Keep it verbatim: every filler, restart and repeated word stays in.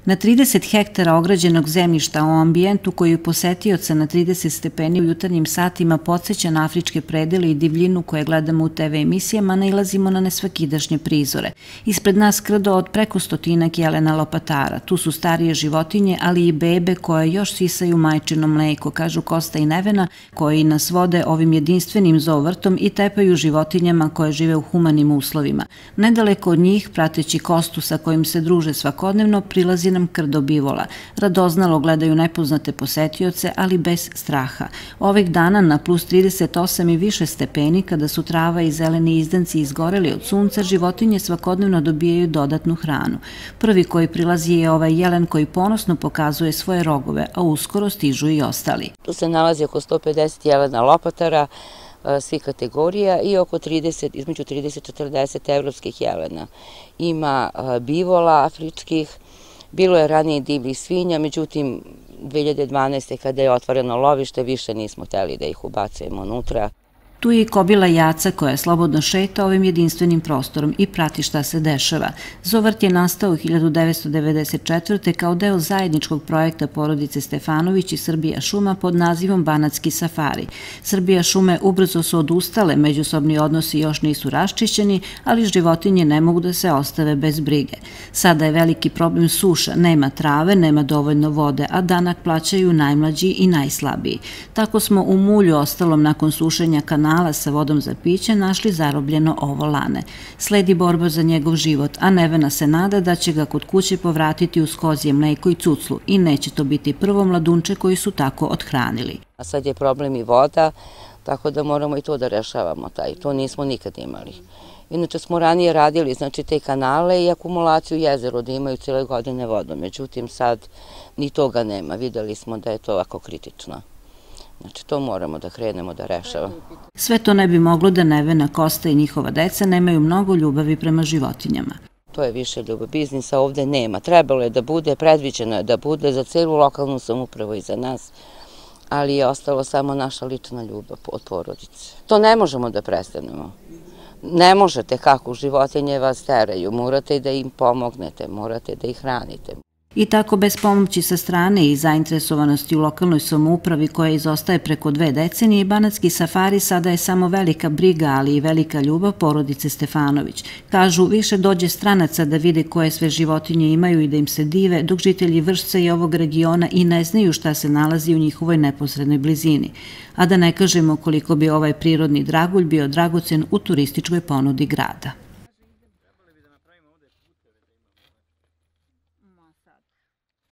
Na trideset hektara ograđenog zemljišta u ambijentu koji posetioca na trideset stepeni u jutarnjim satima podsjeća na afričke predele i divljinu koje gledamo u te ve emisijama, nailazimo na nesvakidašnje prizore. Ispred nas krdo od preko stotinak jelena lopatara. Tu su starije životinje, ali i bebe koje još sisaju majčino mleko, kažu Kosta i Nevena, koji nas vode ovim jedinstvenim zoovrtom i tepaju životinjama koje žive u humanim uslovima. Nedaleko od njih, prateći Kostu sa kojim se druže svakodnevno, prilazi nam krdo bivola. Radoznalo gledaju nepoznate posetioce, ali bez straha. Ovih dana na plus trideset osam i više stepeni, kada su trava i zeleni izdanci izgoreli od sunca, životinje svakodnevno dobijaju dodatnu hranu. Prvi koji prilazi je ovaj jelen koji ponosno pokazuje svoje rogove, a uskoro stižu i ostali. Tu se nalazi oko sto pedeset jelena lopatara, svih kategorija i oko trideset, između trideset i četrdeset evropskih jelena. Ima bivola afričkih, bilo je ranije divljih svinja, međutim dve hiljade dvanaeste. kada je otvoreno lovište više nismo hteli da ih ubacujemo unutra. Tu je i kobila Jaca koja slobodno šeta ovim jedinstvenim prostorom i prati šta se dešava. Zoovrt je nastao u hiljadu devetsto devedeset četvrte. kao deo zajedničkog projekta porodice Stefanović i Srbija šuma pod nazivom Banatski safari. Srbija šume ubrzo su odustale, međusobni odnosi još nisu raščišćeni, ali životinje ne mogu da se ostave bez brige. Sada je veliki problem suša, nema trave, nema dovoljno vode, a danak plaćaju najmlađi i najslabiji. Tako smo u mulju ostalom nakon sušenja kanala sa vodom za piće našli zarobljeno ovo lane. Sledi borba za njegov život, a Nevena se nada da će ga kod kuće povratiti uz kozje mleko i cuclu i neće to biti prvo mladunče koji su tako othranili. A sad je problem i voda, tako da moramo i to da rešavamo, taj. To nismo nikad imali. Inače smo ranije radili znači te kanale i akumulaciju jezero da imaju cijele godine vodu, međutim sad ni toga nema, videli smo da je to ovako kritično. Znači, to moramo da krenemo da rešavamo. Sve to ne bi moglo da Nevena, Kosta i njihova deca nemaju mnogo ljubavi prema životinjama. To je više ljubav. Biznisa ovde nema. Trebalo je da bude, predviđeno je da bude za celu lokalnu samoupravu i za nas, ali je ostalo samo naša lična ljubav od porodice. To ne možemo da prestanemo. Ne možete kako, životinje vas teraju, morate da im pomognete, morate da ih hranite. I tako bez pomoći sa strane i zainteresovanosti u lokalnoj samoupravi koja izostaje preko dve decenije, Banatski safari sada je samo velika briga, ali i velika ljubav porodice Stefanović. Kažu, više dođe stranaca da vide koje sve životinje imaju i da im se dive, dok žitelji Vršca i ovog regiona i ne znaju šta se nalazi u njihovoj neposrednoj blizini. A da ne kažemo koliko bi ovaj prirodni dragulj bio dragocen u turističkoj ponudi grada.